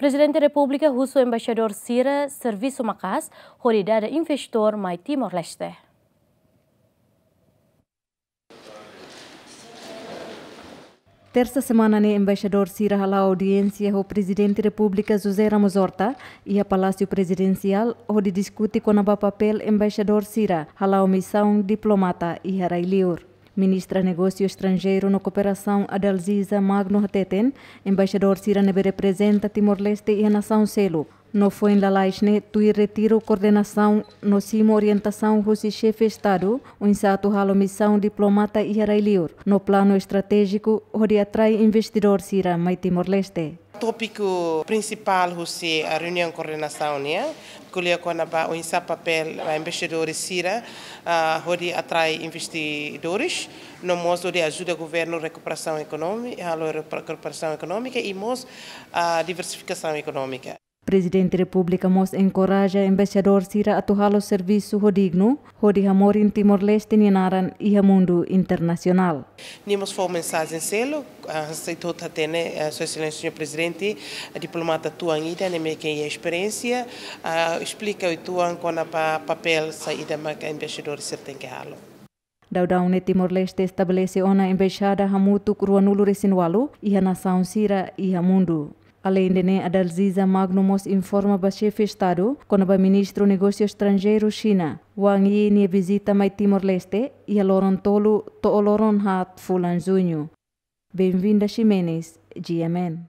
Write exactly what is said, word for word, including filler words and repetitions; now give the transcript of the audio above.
Prezidente Repúblika husu embaixadór sira servisu maka'as hodi dada investidór mai Timor-Leste. Tersa semana ne'e embaixadór sira hala'o audiénsia ho Prezidente Repúblika José Ramos Horta iha Palásiu Prezidensiál hodi diskute kona-ba papél embaixadór sira hala'o misaun diplomata iha rai-liur. Ministra Negósiu Estranjeiru no Kooperasaun Adalziza Magno hateten, embaixadór sira ne'ebé reprezenta Timor-Leste iha nasaun seluk no foin lalais ne'e tuir retiru koordenasaun no simu orientasaun husi xefe Estadu oinsá atu halo misaun diplomata iha rai-liur no planu estratéjiku hodi atrai investidór sira mai Timor-Leste. Tópiku prinsipál husi, ah, reuniaun koordenasaun nian ko'alia kona-ba oinsá papél, ah, embaixadores sira, ah, hodi atrai investidores, no mós hodi ajuda governu rekuperasaun ekonomi-, halo repa-, rekuperasaun ekonómika i mós, ah, diversifikasaun ekonómika. Prezidente Repúblika mós enkoraja embaixadór sira atu halo servisu ho dignu, hodi hamorin Timor-Leste nia naran iha mundu internasionál. Nia mós fó mensajen seluk, ah, sei to'o hatene, ah, Sua Exelénsia Señór Prezidente, ah, diplomata tuan ida ne'ebé ke iha esperiénsia, ah, esplika uitoan kona-ba papél saida maka embaixadór sira tenke halo. Daudaun ne'e Timor-Leste estabelese ona embaixada hamutuk ruanulu-resin-ualu iha nasaun sira iha mundu. Aleinde ne'e, Adalziza Magno mós informa ba xefe Estadu kona-ba Ministru Negósiu Estranjeiru Xina, Wang Yi nia vizita mai Timor-Leste iha loron tolu to'o loron haat fulan Juñu. Benvinda Ximenes, G M N.